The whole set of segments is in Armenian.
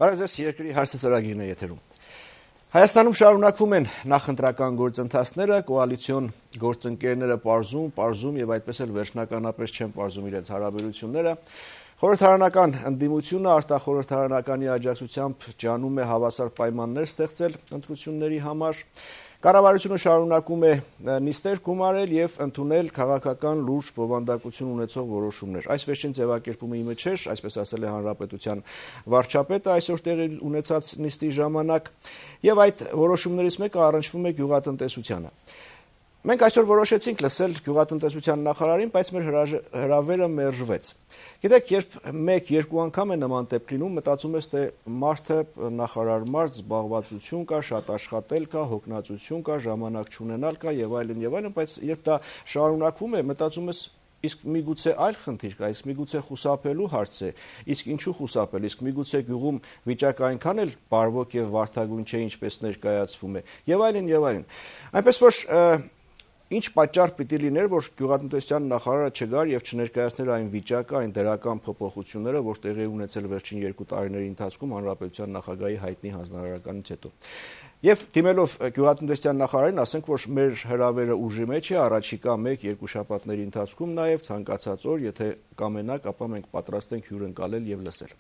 Բարև ձեզ, երկրի հարցը ծրագիրն է եթերում։ Հայաստանում շարունակվում են նախընտրական գործընթացները, կոալիցիոն գործընկերները պարզում եւ այդպես էլ վերջնականապես չեն պարզում իրենց հարաբերությունները։ Խորհրդարանական ընդդիմությունը արտախորհրդարանականի աջակցությամբ ջանում է հավասար պայմաններ ստեղծել ընտրությունների համար։ Կառավարությունը շարունակում է նիստեր գումարել եւ ընդունել քաղաքական լուրջ բովանդակություն ունեցող որոշումներ։ Այս վերջին ձևակերպումը իմը չէր, այսպես ասել է Հանրապետության վարչապետը այսօր տեղի ունեցած նիստի ժամանակ, եւ այդ որոշումներից մեկը առնչվում է գյուղատնտեսությանը։ Մենք այսօր որոշեցինք լսել գյուղատնտեսության նախարարին, բայց մեր հրավերը մերժվեց։ Գիտեք, երբ 1-2 անգամ է նման դեպք լինում, մտածում ես, թե մարդը նախարար զբաղվածություն կա, շատ աշխատել կա, հոգնածություն կա, ժամանակ չունենալ կա եւ այլն, բայց երբ դա շարունակվում է, մտածում ես, իսկ միգուցե այլ խնդիր կա, իսկ միգուցե խուսափելու հարց է, իսկ ինչու խուսափել, իսկ միգուցե գյուղում վիճակը այնքան էլ բարվոք եւ վարդագույն չէ, ինչպես ներկայացվում է, եւ այլն։ Այնպես որ ինչ պատճառ պիտի լիներ, որ գյուղատնտեսության նախարարը չգար եւ չներկայացներ այն վիճակը, այն դրական փոփոխությունները, որ տեղի ունեցել վերջին 2 տարիների ընթացքում հանրապետության նախագահի հայտնի հանձնարարականից հետո։ Եվ դիմելով գյուղատնտեսության նախարարին, ասենք, որ մեր հրավերը ուժի մեջ է, առաջիկա 1-2 շաբաթների ընթացքում նաեւ ցանկացած օր, եթե կամենաք, ապա մենք պատրաստ ենք հյուրընկալել եւ լսել։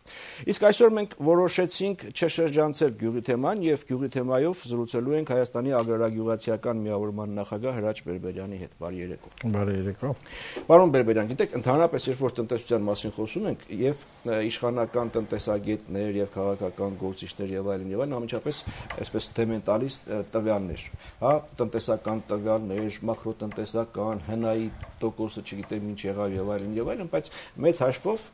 Իսկ այսօր մենք որոշեցինք չշրջանցել գյուղի թեման եւ գյուղի թեմայով զրուցելու ենք Հայաստանի agrarագյուղացիական միավորման նախագահ Հրաչ Բերբերյանի հետ։ Բարի երեկո։ Բարի երեկո։ Պարոն Բերբերյան, գիտեք, ընդհանրապես երբ որ տնտեսության մասին խոսում ենք եւ իշխանական տնտեսագետներ եւ քաղաքական գործիչներ եւ այլն, անմիջապես այսպես թեմ են տալիս տվյալներ, հա, տնտեսական տվյալներ, մակրոտնտեսական, հնայի տոկոսը չգիտեմ ինչ եղավ եւ այլն, բայց մեծ հաշվով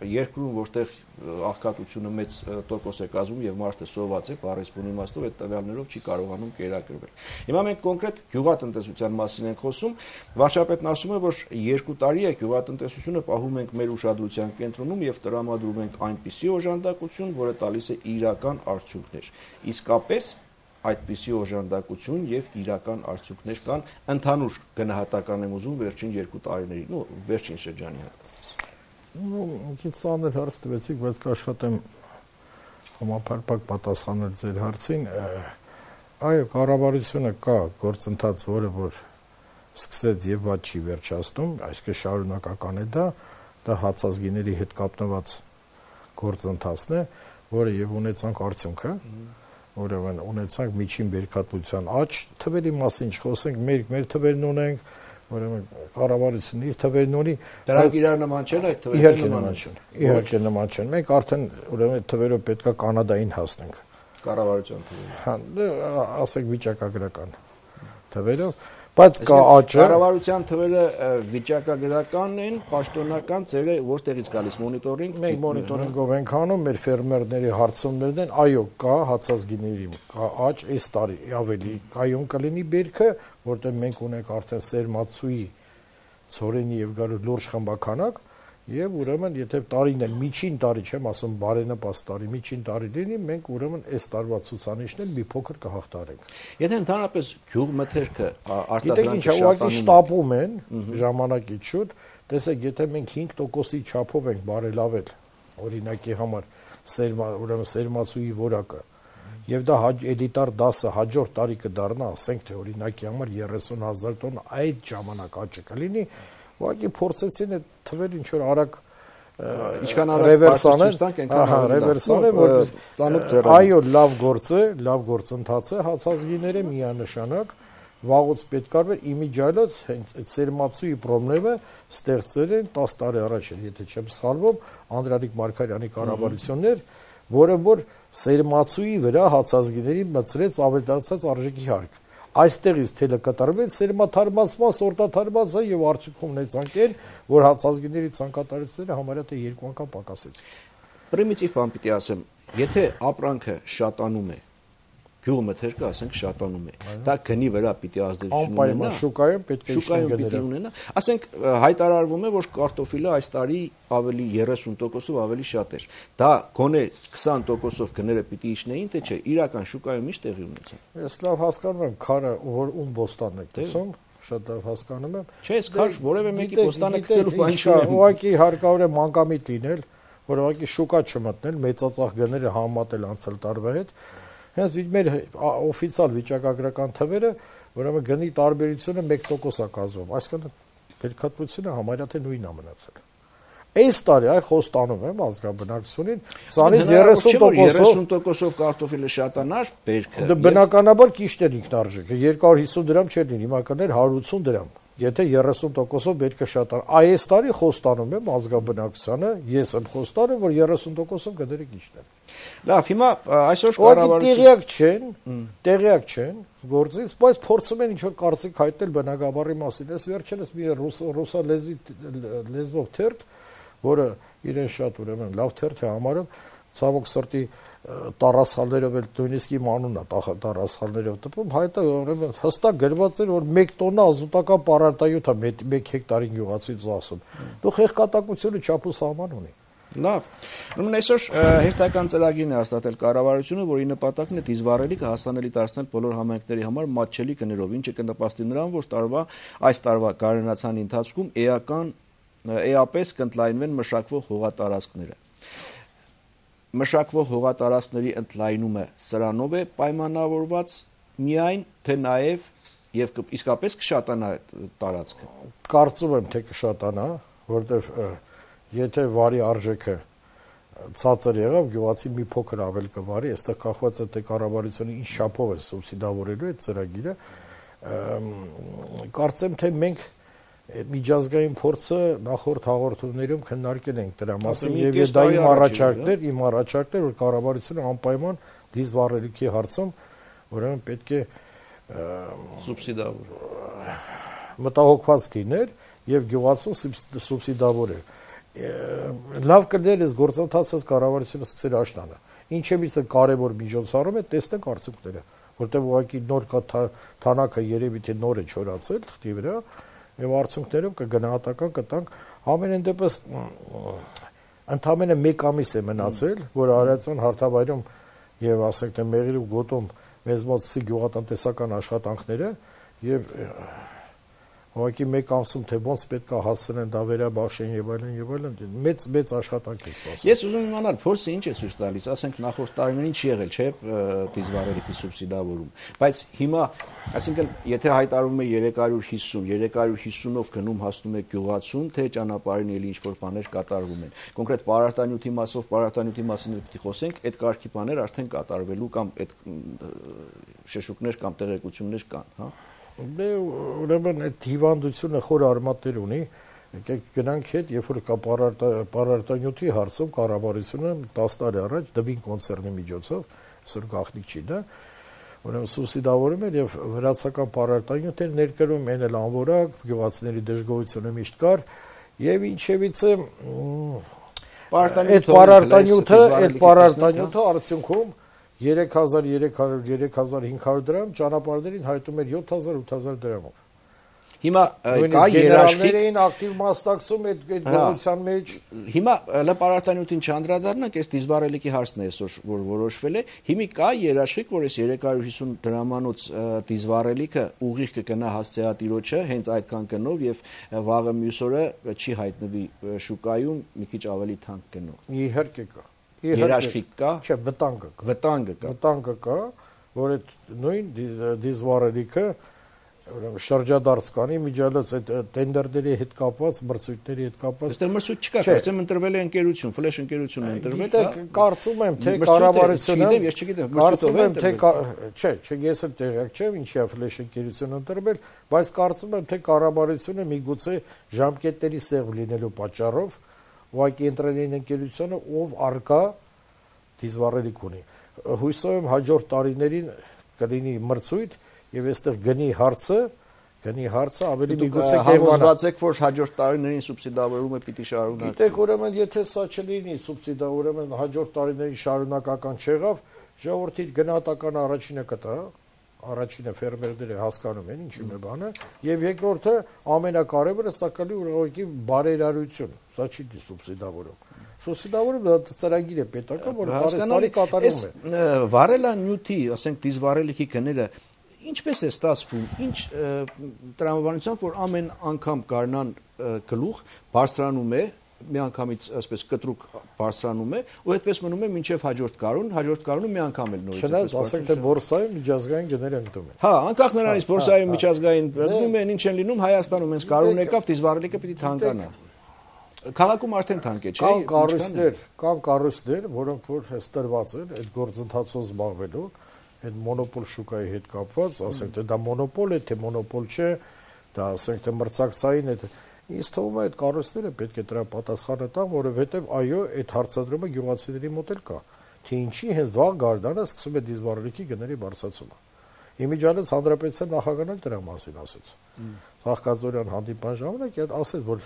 երկրում, որտեղ աղքատությունը մեծ տոկոս է կազմում եւ մարդը սոված է, բառեսպուն իմաստով այդ տվյալներով չի կարողանում կերակրվել։ Հիմա մենք կոնկրետ գյուղատնտեսության մասին ենք խոսում, վարչապետն ասում է, որ 2 տարի է գյուղատնտեսությունը պահում ենք մեր ուշադրության կենտրոնում եւ տրամադրում ենք այնպիսի օժանդակություն, որը տալիս է իրական արդյունքներ։ Իսկապես այդպիսի օժանդակություն եւ իրական արդյունքներ կան ընդհանուր գնահատական եմ ուզում վերջին 2 տարիների, վերջին շրջանի հետ։ Քիչ ծանր հարց տվեցիք, բայց կաշխատեմ համապարփակ պատասխանել ձեր հարցին։ Այո, կառավարությունը կա գործընթաց, որը որ սկսեց եւ ված չի վերջացնում, այսինքն շարունակական է դա հացազգիների հետ կապնված գործընթացն է, որը եւ ունեցանք արդյունքը, ուրեմն ունեցանք միջին բերքատվության աճ, թվերի մասին չխոսենք, մեր թվերն ունենք, ուրեմն կառավարությունը իր թվերն ունի, դրանք իրար նման չեն այդ թվերը իհարկե նման չեն։ Մենք արդեն ուրեմն այդ թվերով պետքա Կանադային հասնենք։ Կառավարության թվերը։ Հա, ասենք վիճակագրական թվերով, բայց կա աճը։ Կառավարության թվերը վիճակագրական են, պաշտոնական ծերը որտեղից գալիս մոնիտորինգ։ Մենք մոնիտորինգով ենք անում, մեր ֆերմերների հարցումներն են, այո, կա հացազգիների, կա աճ, այս տարի ավելի կայուն կլինի բերքը, որտեղ մենք ունենք արդեն սերմացուի, ցորենի եւ գարու լուրջ խմբականակ, եւ ուրեմն եթե տարին էլ միջին տարի չեմ ասում բարենպաստ տարի, միջին տարի լինի, մենք ուրեմն այս տարվա ցուցանիշներն մի փոքր կհաղթարենք։ Եթե ընդհանրապես գյուղմթերքը արտադրանքը շատանում շտապում են ժամանակից շուտ, տեսեք, եթե մենք 5%-ի չափով ենք բարելավել, օրինակի համար ուրեմն սերմացուի որակը, եւ դա էլիտար դասը հաջորդ տարի կդառնա, ասենք թե օրինակի համար 30,000 տոն այդ ժամանակ աճը կլինի, ուղղակի փորձեցին այդ թվերը ինչ որ արագ ինչքան արագ ռևերսանեն, ռևերսանեն, որ ծանոթ ձեռը։ Այո, լավ գործ է, լավ գործընթաց է, հացազգիները միանշանակ վաղուց պետք է արվեր իմիջիալոց հենց այդ սերմացուի խնդիրը ստեղծել են 10 տարի առաջ, եթե չեմ սխալվում, Անդրանիկ Մարգարյանի կառավարություններ, որը որ սերմացուի վրա հացազգիների մտցրեց ավելացած արժեքի հարկ։ Այստեղից թելը կատարվեց սերմաթարմացման, սորտաթարմացը եւ արդյունքում ունեցանք այն, որ հացազգիների ցանկատարությունները համարյա թե 2 անգամ պակասեցին։ Պրիմիտիվ բան պիտի ասեմ, եթե ապրանքը շատանում է, գյուղմթերքը ասենք շատանում է, դա գնի վրա պիտի ազդեցություն ունենա, շուկայում պետք է պիտի ունենա, ասենք հայտարարվում է, որ կարտոֆիլը այս տարի ավելի 30%-ով ավելի շատ էր, դա գոնե 20%-ով գները պիտի իջնեին, թե չէ, իրական շուկայում ինչ տեղի ունեցավ։ Ես լավ հասկանում եմ, քարը որ ում բոստանն է տեսում, շատ լավ հասկանում եմ։ Չէ, ես քար որևէ մեկի բոստանը գցելու բան չունեմ։ Ուղղակի հարկավոր է մանկամիտ լինել, որ ուղղակի շուկա չմտնել, մեծածախ գները համատել անցյալ տարվա հետ։ Հենց մեր օֆիցիալ վիճակագրական թվերը, ուրեմն գնի տարբերությունը 1% է կազմում, այսինքն բերքատվությունը համարյա թե նույնն է մնացել։ Այս տարի այ խոստանում եմ ազգաբնակչությունին 20-30%-ով 30%-ով կարտոֆիլը շատանար բերքը։ Դա բնականաբար ճիշտ է ինքնարժեքը, 250 դրամ չէր լինի, հիմա կներ 180 դրամ։ Եթե 30%-ով բերքը շատանա, այս տարի խոստանում եմ ազգաբնակչությանը, ես եմ խոստանում, որ 30%-ով գները ճիշտ են։ Լավ, հիմա այսօր կառավարությունը տեղյակ չեն գործից, բայց փորձում են ինչ-որ կարծիք հայտնել բնակավարի մասին։ Այս վերջերս մի ռուսա լեզվով թերթ, որը իրեն շատ ուրեմն լավ թերթ է համարում, ցավոք սրտի տարասխալներով էլ նույնիսկ իմ անունն է տարասխալներով տպում, հայտը ուրեմն հստակ գրված էր, որ 1 տոննա ազոտական պարարտանյութ է 1 հեկտարին գյուղացուց ասում։ Դու խեղկատակությունը չափ ու սահման ունի։ Լավ։ Ուրեմն այսօր հերթական ծրագիրն է հաստատել կառավարությունը, որի նպատակն է դիզվառելիքը հասանելի դարձնել բոլոր համայնքների համար մատչելի գներով, ինչը կնպաստի նրան, որ այս տարվա գարնանացանի ընթացքում էապես կընդլայնվեն մշակվող հողատարածքները։ Մշակվող հողատարածքների ընդլայնումը սրանով է պայմանավորված միայն, թե նաև եւ իսկապես կշատանա տարածքը։ Կարծում եմ, թե կշատանա, որտեվ եթե վարի արժեքը ցածր եղավ, գյուղացին մի փոքր ավել կվարի, այստեղ կախված է թե կառավարությունը ինչ չափով է սուբսիդավորելու այդ ծրագիրը։ Կարծեմ, թե մենք միջազգային փորձը նախորդ հաղորդումներում քննարկել ենք դրա մասին եւ դա իմ առաջարկներ, որ կառավարությունը անպայման դիզվառելիքի հարցում ուրեմն պետք է մտահոգված լիներ եւ գյուղացուն սուբսիդավորել։ Լավ կներ այս գործընթացը կառավարությունը սկսել աշնանը։ Ինչևիցե կարևոր միջոցառում է, տեսնենք արդյունքները, որտեղ ուղղակի նոր թանակը երևի թե նոր է չորացել թղթի վրա եւ արդյունքներով կգնահատական կտանք ամենայն դեպս ընդամենը 1 ամիս է մնացել, որ Արարատյան հարթավայրում եւ ասենք թե Մեղրի ու Գոտում մեզ մոտ գյուղատնտեսական աշխատանքները եւ ուղղակի 1 ամսում թե ոնց պետք է հասցնեն դա վերաբաշխեն եւ այլն մեծ աշխատանք է սպասում։ Ես ուզում եմ իմանալ փորձը ինչ է ցույց տալիս, ասենք նախորդ տարիներին չի եղել, չէ՞, դիզվառելիքի սուբսիդավորում, բայց հիմա, այսինքն եթե հայտարարվում է 350-ով գնում հասնում է գյուղացուն, թե ճանապարհին էլի ինչ որ բաներ կատարվում են։ Կոնկրետ պարարտանյութի մասին պիտի խոսենք, այդ կարգի բաներ արդեն կատարվելու կամ այդ շշուկներ կամ տեղեկություններ կան, հա։ Դե ուրեմն այդ հիվանդությունը խոր արմատներ ունի, եկեք գնանք հետ, երբ որ կա պարարտանյութի հարցում կառավարությունը 10 տարի առաջ Դվին կոնցեռնի միջոցով, այսօր գաղտնիք չի դա, ուրեմն սուբսիդավորում էր եւ վրացական պարարտանյութեր ներկրում են էլ անորակ, գյուղացիների դժգոհությունը միշտ կար եւ ինչևիցե այդ պարարտանյութը արդյունքում 3300-3500 դրամ, ճանապարհներին հայտում էր 7000-8000 դրամով։ Հիմա կա երաշխիք ակտիվ մասնակցում այդ գողության մեջ։ Հիմա լպարարտանյութին չանդրադառնանք, այս դիզվառելիքի հարցն է այսօր որ որոշվել է։ Հիմա կա երաշխիք, որ այս 350 դրամանոց դիզվառելիքը ուղիղ կգնա հասցեատիրոջը հենց այդքան գնով եւ վաղը մյուս օրը չի հայտնվի շուկայում մի քիչ ավելի թանկ գնով։ Իհարկե կա։ Երաշխիք կա։ Չէ, վտանգը կա, որ այդ նույն դիզվառելիքը ուրեմն շրջադարձ կանի միջալոց այդ տենդերների հետ կապված, մրցույթների հետ կապված։ Այստեղ մրցույթ չկա, կարծեմ ընտրվել է ընկերություն, ֆլեշ ընկերությունն է ընտրվել, հա։ Կարծում եմ, թե կառավարությունը, ես չգիտեմ, կարծում եմ, թե չէ, ես էլ տեղյակ չեմ, ինչի է ֆլեշ ընկերությունը ընտրվել, բայց կարծում եմ, թե կառավարությունը միգուցե ժամկետների սեղմ լինելու պատճառով ուղղակի ընտրել ընկերությունը, ով արկա դիզվառելիք ունի։ Հույսով եմ հաջորդ տարիներին կլինի մրցույթ եւ այստեղ գնի հարցը ավելի միգուցե համոզված եք, որ հաջորդ տարիներին սուբսիդավորումը պիտի շարունակվի։ Գիտեք, ուրեմն եթե սա չլինի սուբսիդա, ուրեմն հաջորդ տարիներին շարունակական չեղավ, ժողովրդի գնահատական առաջինը կտա, առաջինը ֆերմերները հասկանում են ինչու է բանը, եւ երկրորդը ամենակարևորը սա կլի ուղղակի բարերարություն, սա չի սուբսիդավորում։ Սուբսիդավորում դա ծրագիր է պետական, որ հարստարի կատարում է։ Վարելանյութի, ասենք դիզվառելիքի գները ինչպես է ստացվում, ինչ տրամաբանությամբ, որ ամեն անգամ գարնան գլուխ բարձրանում է միանգամից այսպես կտրուկ բարձրանում է ու այդպես մնում է մինչև հաջորդ կարոնում մի անգամ էլ նորից Չնայած ասենք թե բորսայում միջազգային գները ընկնում են։ Հա, անկախ նրանից բորսայում միջազգային ընկնում են, ինչ են լինում, Հայաստանում հենց կարոն եկավ, դիզվառելիքը պիտի թանկանա։ Քաղաքում արդեն թանկ է, չէ՞։ Կան կառույցներ, որոնք որ հստորված են այդ գործընթացով զբաղվելու, այդ մոնոպոլ շուկայի հետ կապված, ասենք թե դա մոնոպոլ է, թե մոնոպոլ չէ, դա ասենք թե մրցակցային է։ Ինձ թվում է այդ կառույցները պետք է դրա պատասխանը տան, որովհետև այո, այդ հարցադրումը գյուղացիների մոտ էլ կա, թե ինչի հենց վաղ գարդանը սկսում է դիզվառելիքի գների բարձրացումը։ Իմիջիալից հանրապետության նախագահն էլ դրա մասին ասեց։ Ծաղկազորյան հանդիպան ժամանակ ասեց, որ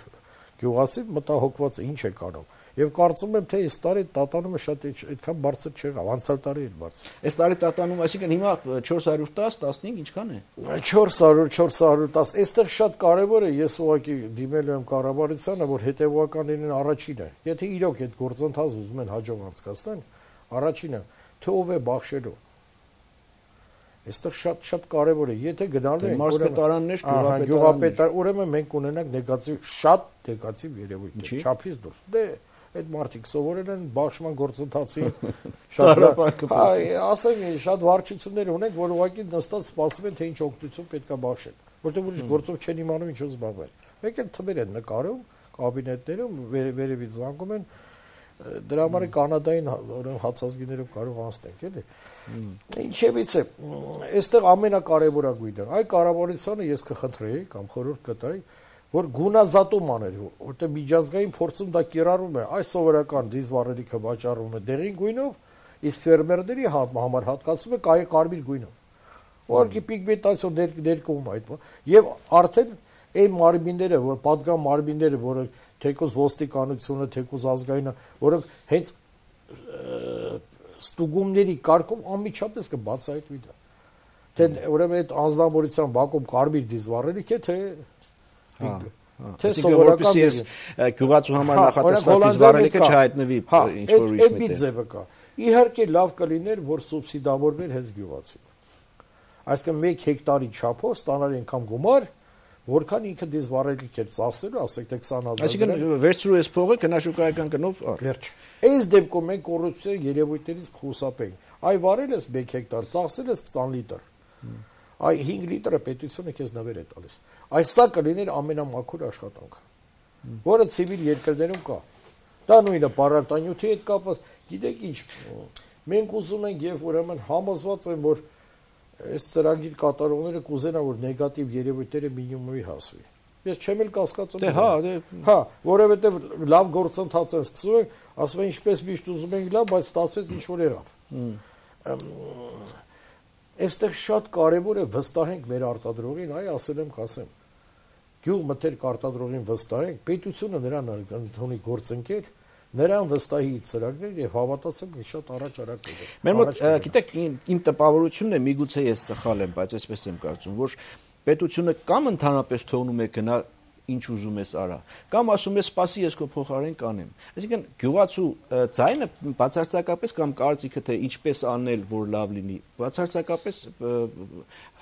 գյուղացին մտահոգված է, ինչ է կանում։ Եվ կարծում եմ, թե այս տարի տատանումը շատ այդքան բարձր չեղավ, անցյալ տարի էլ բարձր։ Այս տարի տատանում, այսինքն հիմա 410, 15 ինչքան է։ 410, այստեղ շատ կարևոր է, ես ուղղակի դիմել եմ կառավարությանը, որ հետևողական լինեն առաջինը։ Եթե իրոք այդ գործընթացը ուզում են հաջող անցկացնեն, առաջինը, թե ով է բախշելու։ Այստեղ շատ կարևոր է, եթե գնալու են մարզպետարաններ, գյուղապետարան, ուրեմն մենք ունենանք նեգատիվ, շատ նեգատիվ երևույթներ, չափից դուրս։ Դե այդ մարդիկ սովորել են բաշխման գործընթացի ասեմ, շատ վարչություններ ունենք, որ ուղղակի նստած սպասում են, թե ինչ օգնություն պետք է բաշխեն, որտեղ ուրիշ գործով չեն իմանում ինչով զբաղվել։ Մեկ էլ թվեր են նկարում, կաբինետներում, վերևից զանգում են, դրա համար կանադային հացազգիներով կարող անցնենք, էլի։ Ինչևից է, այստեղ ամենակարևորագույնը, այ կառավարությանը ես կխնդրեի կամ խորհուրդ կտայի, որ գունազատում աներ, որտեղ միջազգային փորձում դա կիրառվում է, այս սովորական դիզվառելիքը վաճառվում է դեղին գույնով, իսկ ֆերմերների համար հատկացվում է կարմիր գույնով։ Ուղղակի պիգմենտացիոն ներկում այդ, եւ արդեն այն մարմինները, որ պատգամ մարմինները, որը թեկուզ ոստիկանությունը, թեկուզ ազգայինը, որոնք հենց ստուգումների կարգում անմիջապես կբացահայտվի դա։ Թե ուրեմն այդ անձնավորության բակում կարմիր դիզվառելիք է, թե սովորական գյուղացու համար նախատեսված դիզվառելիքը չհայտնվի ինչ-որ ուրիշ միտեղ։ Այդ ձևը կա։ Իհարկե լավ կլիներ, որ սուբսիդավորվեր հենց գյուղացին։ Այսինքն 1 հեկտարի չափով ստանալ այնքան գումար, որքան ինքը դիզվառելիք է ծախսելու, ասենք թե 20000։ Այսինքն վերցրու այս փողը գնաշուկայական գնով առ։ Վերջ։ Այս դեպքում մենք կոռուպցիայի երևույթներից կխուսափենք։ Այ վարել ես 1 հեկտար, ծախսել ես 20 լիտր։ Այ 5 լիտրը պետությունը քեզ նվեր է տալիս։ Այս սա կլիներ ամենամաքուր աշխատանքը, որը ցիվիլ երկրներում կա։ Դա նույնը պարարտանյութի հետ կապված, գիտեք ինչ, մենք ուզում ենք եւ ուրեմն համոզված եմ, որ այս ծրագիր կատարողները կուզենան, որ նեգատիվ երևույթները մինիմումի հասվի։ Ես չեմ էլ կասկածում։ Հա, որովհետեւ լավ գործընթաց են սկսում են, ասում են ինչպես միշտ ուզում ենք լավ, բայց ստացվեց ինչ որ եղավ։ Այստեղ շատ կարևոր է վստահենք մեր արտադրողին, այ ասել եմ, կասեմ։ Գյուղ մտերք արտադրողին վստահենք, պետությունը նրան ընդունի գործընկեր, նրան վստահի ծրագրեր եւ հավատացեք շատ առաջարակ է։ Մեր մոտ, գիտեք, իմ տպավորությունն է, միգուցե ես սխալ եմ, բայց այսպես եմ կարծում, որ պետությունը կամ ընդհանրապես թողնում է գնա ինչ ուզում ես արա, կամ ասում ես սպասի ես քո փոխարեն կանեմ։ Այսինքն գյուղացու ձայնը բացարձակապես կամ կարծիքը թե ինչպես անել, որ լավ լինի, բացարձակապես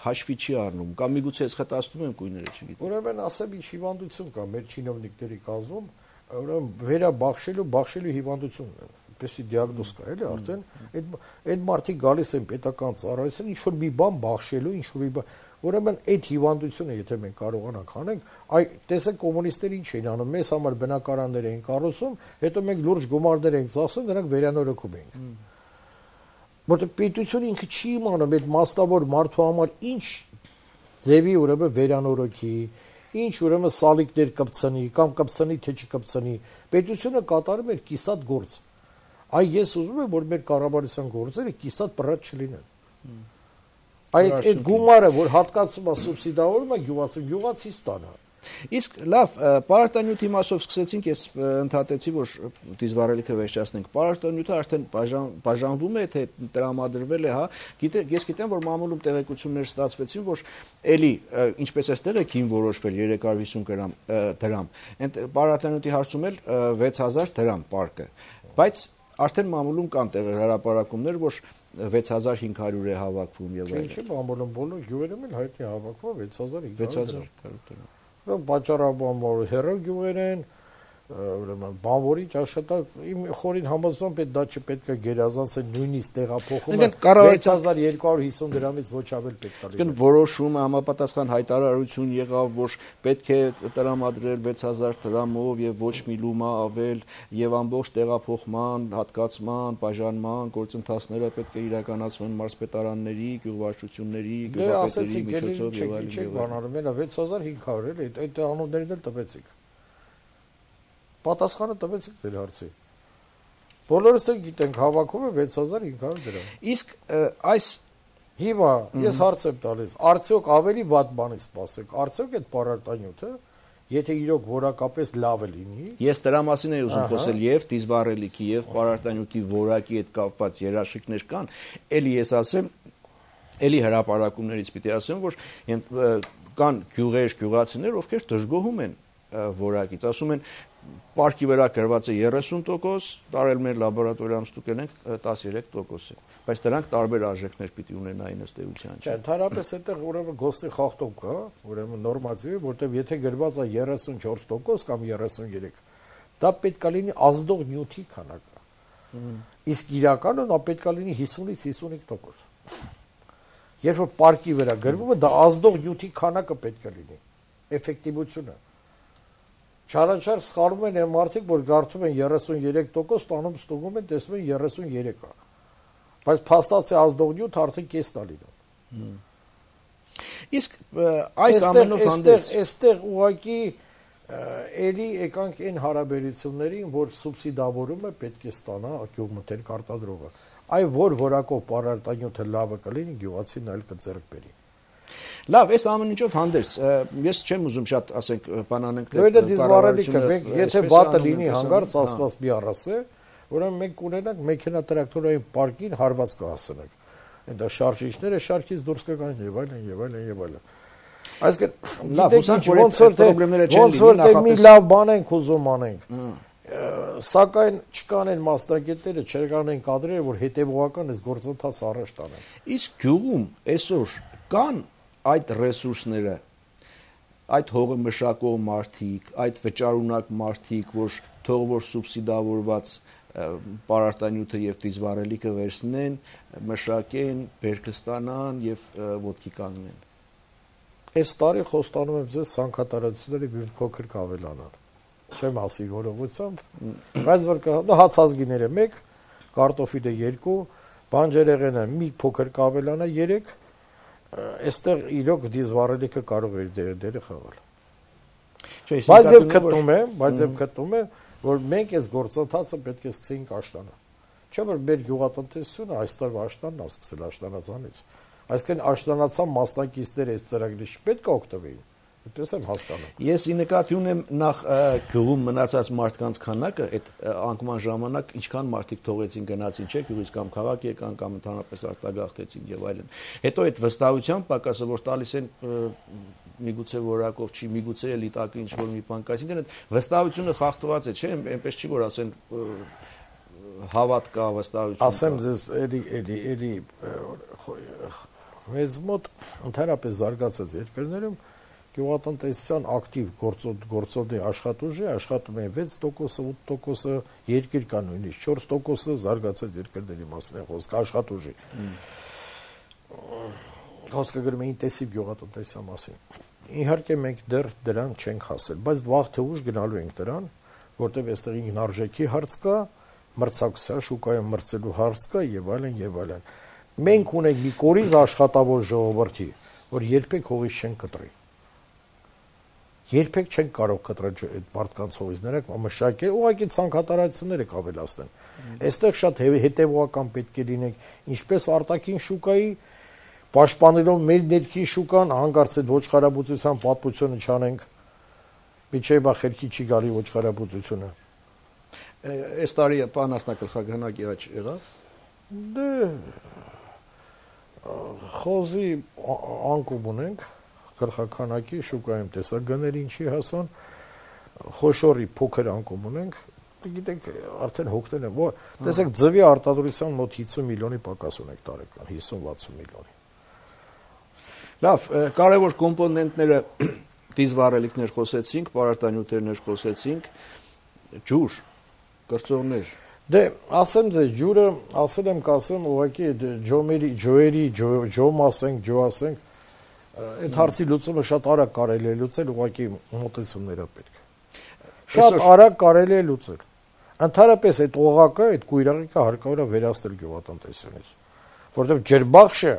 հաշվի չի առնում, կամ միգուցե ես խտացնում եմ կույները, չգիտեմ։ Ուրեմն ասեմ ինչ հիվանդություն կա մեր չինովնիկների կազմում, ուրեմն վերաբախշելու հիվանդություն, այդպեսի դիագնոզ կա, էլի արդեն այդ մարդիկ գալիս են պետական ծառայության, ինչ որ մի բան բախշելու, ինչ որ մի բան, ուրեմն այդ հիվանդությունը եթե մենք կարողանանք անենք, այ տեսեք կոմունիստները ինչ էին անում, մեզ համար բնակարաններ էին կառուցում, հետո մենք լուրջ գումարներ ենք ծախսում, նրանք վերանորոգում ենք։ Որտեղ պետությունը ինքը չի իմանում այդ մասնավոր մարդու համար ինչ ձևի ուրեմն վերանորոգի, ինչ ուրեմն սալիկներ կպցնի կամ կպցնի թե չկպցնի, պետությունը կատարում էր կիսատ գործ։ Այ ես ուզում եմ, որ մեր կառավարության գործերը կիսատ պրատ չլինեն։ Այդ գումարը, որ հատկացում է սուբսիդավորում է գյուղացի ստանա։ Իսկ լավ, պարարտանյութի մասով սկսեցինք, ես ընդհատեցի, որ դիզվառելիքը վերջացնենք։ Պարարտանյութը արդեն բաժանվում է, թե տրամադրվել է, հա։ Ես գիտեմ, որ մամուլում տեղեկություններ ստացվեցին, որ էլի, ինչպես էստեղ եք հին որոշվել 350 դրամ, այդ պարարտանյութի հարցում էլ 6000 դրամ պարկը։ Բայց արդեն մամուլում կան հրապարակումներ, որ 6500 է հավաքվում եւ այլն։ Ինչի մամուլում բոլոր գյուղերում էլ հայտնի հավաքվում 6500 դրամ։ Պատճառաբանորը հեռու գյուղեր են, ուրեմն բանվորի աշխատակ իմ խորին համոզում պետք դա չպետք է գերազանցել նույնիսկ տեղափոխումը 6250 դրամից ոչ ավել պետք է լինի։ Որոշումը համապատասխան հայտարարություն եղավ, որ պետք է տրամադրել 6000 դրամով եւ ոչ մի լումա ավել եւ ամբողջ տեղափոխման, հատկացման, բաժանման գործընթացները պետք է իրականացվեն մարզպետարանների, գյուղվարչությունների, գյուղապետերի միջոցով եւ այլն։ Չէ, բանալու մենա 6500 էլի, այդ անուններն էլ տվեցիք։ Պատասխանը տվեցիք ձեր հարցի։ Բոլորս էլ գիտենք հավաքում է 6500 դրամ։ Իսկ այս հիմա ես հարց եմ տալիս, արդյոք ավելի վատ բանից սպասեք, արդյոք այդ պարարտանյութը, եթե իրոք որակապես լավ է լինի։ Ես դրա մասին եմ ուզում խոսել եւ դիզվառելիքի եւ պարարտանյութի որակի հետ կապված երաշխիքներ կան, էլի ես ասեմ, էլի հրապարակումներից պիտի ասեմ, որ կան գյուղեր, գյուղացիներ, ովքեր դժգոհում են որակից, ասում են Պարկի վրա գրված է 30%, տարել մեր լաբորատորիայում ստուգել ենք 13% է, բայց դրանք տարբեր արժեքներ պիտի ունենային ըստ էության, չէ։ Ընդհանրապես այդտեղ ուրեմն գոստի խախտում կա, ուրեմն նորմատիվ է, որտեղ եթե գրված է 34% կամ 33, դա պետք է լինի ազդող նյութի քանակը։ Իսկ իրականում դա պետք է լինի 50-ից 55%։ Երբ որ պարկի վրա գրվում է, դա ազդող նյութի քանակը պետք է լինի, էֆեկտիվությունը։ Չարաչար սխալվում են այն մարդիկ, որ կարծում են 33%, տանում ստուգում են, տեսնում են 33-ը։ Բայց փաստացի ազդող նյութ արդեն կեսն է լինում։ Իսկ այս ամենով հանդերձ այստեղ ուղղակի էլի եկանք այն հարաբերություններին, որ սուբսիդավորումը պետք է ստանա գյուղմթերք արտադրողը։ Այ որ որակով պարարտանյութը լավը կլինի, գյուղացին այլ կձեռք բերի։ Լավ, այս ամեն ինչով հանդերձ, ես չեմ ուզում շատ, ասենք, բանանենք դե դիզվառելիքը, եթե վատը լինի հանգարց ասված մի առասե, ուրեմն մենք կունենանք մեքենատրակտորային պարկին հարված կհասնենք։ Դա շարժիչները շարքից դուրս կգան եւ այլն եւ այլն եւ այլն։ Այսինքն, լավ, ոնց որ թե մի լավ բան ենք ուզում անենք։ Սակայն չկան այն մասնագետները, չկան այն կադրերը, որ հետևողական այս գործընթացը առաջ տանեն։ Իսկ գյուղում այսօր կան այդ ռեսուրսները, այդ հողը մշակող մարդիկ, այդ վճարունակ մարդիկ, որ թող որ սուբսիդավորված պարարտանյութը եւ դիզվառելիքը վերցնեն, մշակեն, բերքը ստանան եւ ոտքի կանգնեն։ Այս տարի խոստանում եմ ձեզ ցանկատարությունների մի փոքր կավելանան։ Չեմ ասի որովությամբ, բայց որ հացազգիները 1, կարտոֆիլը 2, բանջարեղենը մի փոքր կավելանա 3, այստեղ իրոք դիզվառելիքը կարող է դերը խաղալ։ Բայց եւ գտնում եմ, որ մենք այս գործընթացը պետք է սկսենք աշտանալ։ Չէ՞ որ մեր գյուղատնտեսությունը այս տարվա աշտանն է սկսել աշտանացանից։ Այսինքն աշտանացան մասնակիցները այս ծրագրից պետք է օգտվեին։ Այդպես եմ հասկանում։ Ես ի նկատի ունեմ նախ գյուղում մնացած մարդկանց քանակը, այդ անկման ժամանակ ինչքան մարդիկ թողեցին գնացին, չէ՞, գյուղից կամ քաղաք եկան կամ ընդհանրապես արտագաղթեցին եւ այլն։ Հետո այդ վստահության պակասը, որ տալիս են միգուցե որակով չի, միգուցե էլի տակը ինչ որ մի բան կա, այսինքն այդ վստահությունը խախտված է, չէ՞, այնպես չի որ ասեն հավատ կա, վստահություն։ Ասեմ ձեզ էլի մեզ մոտ ընդհանրապես զարգացած երկրներում գյուղատնտեսության ակտիվ գործողի աշխատուժի աշխատում է 6%, 8%, երկիր կա նույնիսկ 4% զարգացած երկրների մասին է խոսքը աշխատուժի։ Խոսքը գրում է ինտենսիվ գյուղատնտեսության մասին։ Իհարկե մենք դեռ դրան չենք հասել, բայց վաղ թե ուշ գնալու ենք դրան, որտեղ այստեղ ինքնարժեքի հարց կա, մրցակցության շուկայում մրցելու հարց կա եւ այլն եւ այլն։ Մենք ունենք մի կորիզ աշխատավոր ժողովրդի, որ երբեք հողից չեն կտրի։ Երբեք չեն կարող կտրել այդ մարդկանց հողից, նրանք մշակել, ուղղակի ցանկատարությունները կավելացնեն։ Այստեղ շատ հետևողական պետք է լինենք, ինչպես արտաքին շուկայի, պաշտպանելով մեր ներքին շուկան, հանկարծ այդ ոչխարաբուծության պատմությունը չանենք, միջև բա խելքի չի գալի ոչխարաբուծությունը։ Այս տարի պանասնակղխագանակի աճ եղավ։ Դե խոզի անկում ունենք, գլխականակի շուկայում տեսագները ինչի հասան, խոշորի փոքր անկում ունենք, գիտեք, արդեն հոգնել են, տեսեք ձվի արտադրության մոտ 50 միլիոնի պակաս ունենք տարեկան, 50-60 միլիոնի։ Լավ, կարևոր կոմպոնենտները դիզվառելիքներ խոսեցինք, պարարտանյութերներ խոսեցինք, ջուր, կրծողներ։ Դե ասեմ ձեզ, ջուրը ասել եմ կասեմ, ուղղակի ջոերի, ջոմ ասենք, ջո ասենք, այդ հարցի լուծումը շատ արագ կարելի է լուծել, ուղղակի մոտեցումները պետք է։ Շատ արագ կարելի է լուծել։ Ընդհանրապես այդ օղակը, այդ կույրակը հարկավոր է վերացնել գյուղատնտեսությունից, որովհետև ջրբախշը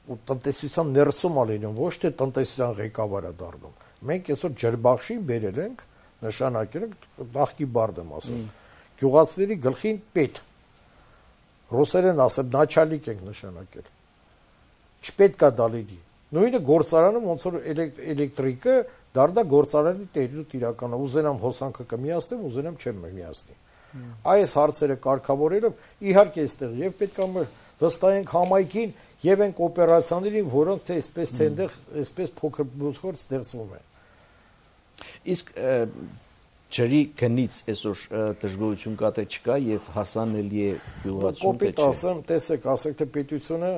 տնտեսության ներսում է լինում, ոչ թե տնտեսության ղեկավարը դառնում։ Մենք այսօր ջրբախշին բերել ենք, նշանակել ենք, նախկի բարդ եմ ասում, գյուղացիների գլխին պետ։ Ռուսերեն ասեմ, նաչալիկ ենք նշանակել։ Չպետք է դա լինի։ Նույնը գործարանում ոնց որ էլեկտրիկը դառնա գործարանի տերուտ իրականը, ուզենամ հոսանքը կմիացնեմ, ուզենամ չեմ միացնի։ Այս հարցերը կարգավորելով իհարկե այստեղ եւ պետք է վստահենք համայնքին եւ այն կոոպերացիաներին, որոնք թե այսպես թե այնտեղ այսպես փոքր բուժքոր ստեղծվում են։ Իսկ ջրի գնից այսօր դժգոհություն կա թե չկա եւ հասանելի է գյուղացուն թե չէ։ Կոպիտ ասեմ, տեսեք, ասեք թե պետությունը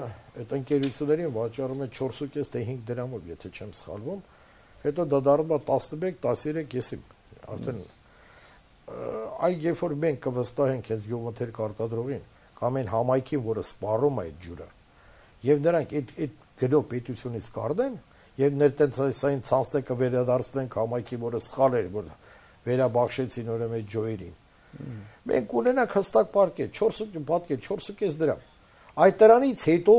այդ ընկերություններին վաճառում է 4.5 թե 5 դրամով, եթե չեմ սխալվում, հետո դա դառնում է 11-13 եսիմ, արդեն այ երբ որ մենք կվստահենք հենց գյուղմթերք արտադրողին կամ այն համայնքին, որը սպառում է այդ ջուրը, եւ նրանք այդ գնով պետությունից կառնեն եւ ներտենցային ցանցը վերադարձնեն համայնքի, որը սխալ էր, որ վերաբաշխեցին ուրեմն այդ ջոերին։ Մենք ունենանք հստակ պարկետ 4.5 դրամ։ Այդ դրանից հետո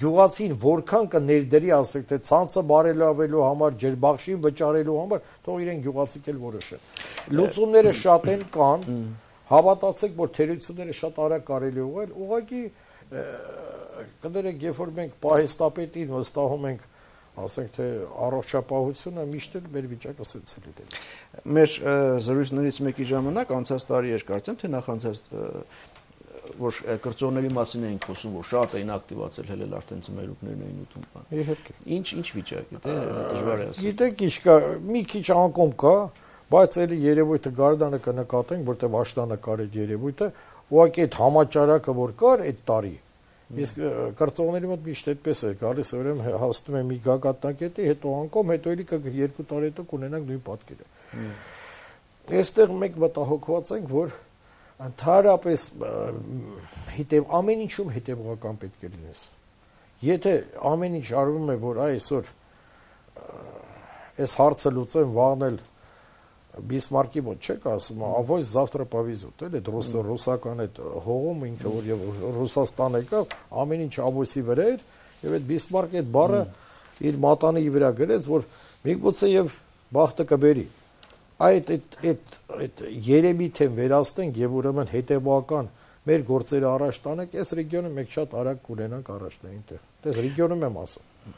գյուղացին որքան կներդրի, ասեք թե ցանցը բարելավելու համար, ջրբախշին վճարելու համար, թող իրեն գյուղացիք էլ որոշեն։ Լուծումները շատ են կան, հավատացեք, որ թերությունները շատ արագ կարելի ուղղել, ուղղակի կներեք, երբ որ մենք պահեստապետին վստահում ենք, ասենք թե առողջապահությունը միշտ էլ մեր վիճակը սենց է լինել։ Մեր զրույցներից մեկի ժամանակ անցած տարի էր կարծեմ, թե նախանցած որ կրծողների մասին էինք խոսում, որ շատ էին ակտիվացել, հելել արդեն ծմերուկներն էին ուտում բան։ Իհարկե։ Ինչ վիճակ է, դե դժվար է ասել։ Գիտեք, ինչ կա, մի քիչ անկում կա, բայց էլի երևույթը Գարդանը կնկատենք, որտեղ աշտանկար այդ երևույթը, ուղղակի այդ համաճարակը որ կար այդ տարի, իսկ կրծողների մոտ միշտ այդպես է գալիս, ուրեմն հասնում է մի գագաթնակետի, հետո անկում, հետո էլի 2 տարի հետո կունենանք նույն պատկերը։ Այստեղ մենք մտահոգված ենք, որ ընդհանրապես ամեն ինչում հետևողական պետք է լինես։ Եթե ամեն ինչ արվում է, որ այսօր այս հարցը լուծեն վաղնել Բիսմարկի մոտ չեք ասում, ավոյ завтра повезут, էլ այդ ռուսական այդ հողում ինքը որ եւ Ռուսաստան եկավ, ամեն ինչ ավոսի վրա էր եւ այդ Բիսմարկը այդ բառը իր մատանի վրա գրեց, որ միգուցե եւ բախտը կբերի։ Այդ երեմիթ են վերացնենք եւ ուրեմն հետեւական մեր գործերը առաջ տանենք, այս ռեգիոնը մենք շատ արագ կունենանք առաջնային տեղ։ Դες ռեգիոնում եմ ասում։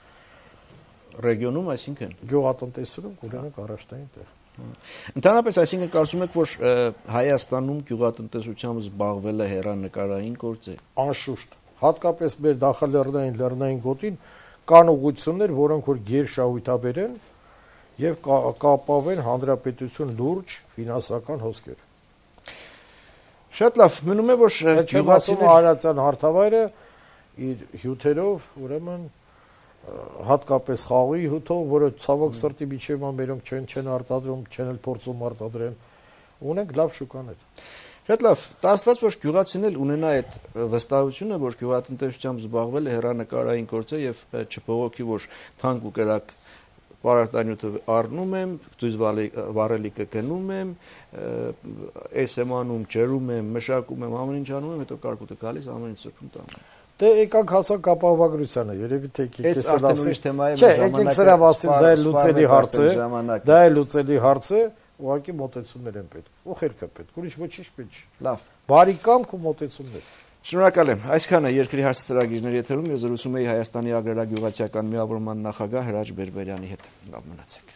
Ռեգիոնում, այսինքն գյուղատնտեսությունում կունենանք առաջնային տեղ։ Ընդհանրապես, այսինքն կարծում եք, որ Հայաստանում գյուղատնտեսությամբ զբաղվելը հեռանկարային գործ է։ Անշուշտ, հատկապես մեր նախալեռնային գոտին կան ուղղություններ, որոնք որ գերշահույթաբեր են եւ կապավեն հանրապետություն լուրջ ֆինանսական հոսքեր։ Շատ լավ, մնում է, որ գյուղացիները Արարատյան հարթավայրը իր հյութերով, ուրեմն հատկապես խաղի հյութով, որը ցավոք սրտի միջև մերոնք չեն արտադրում, չեն էլ փորձում արտադրեն, ունենք լավ շուկաներ։ Շատ լավ, տասված որ գյուղացին էլ ունենա այդ վստահությունը, որ գյուղատնտեսությամբ զբաղվելը հեռանկարային գործ է եւ չփողոքի, որ թանկ ու կրակ պարարտանյութը առնում եմ, դույզ վառելիքը գնում եմ, այս եմ անում, ջրում եմ, մշակում եմ, ամեն ինչ անում եմ, հետո կարկուտը գալիս, ամեն ինչ սրբում տանում։ Դե եկանք հասանք ապահովագրությանը, երևի թե եկեք այս արդեն ուրիշ թեմա է, եկեք սրա մասին, դա է լուծելի հարց է, դա է լուծելի հարց է, ուղղակի մոտեցումներ են պետք, ու խելքը պետք, ուրիշ ոչինչ պետք չի։ Լավ, բարի կամք ու մոտեցումներ։ Շնորհակալ եմ։ Այսքանը երկրի հարցը ծրագիրների եթերում ես զրուցում էի Հայաստանի agrarագյուղացիական միավորման նախագահ Հրաչ Բերբերյանի հետ։ Լավ մնացեք։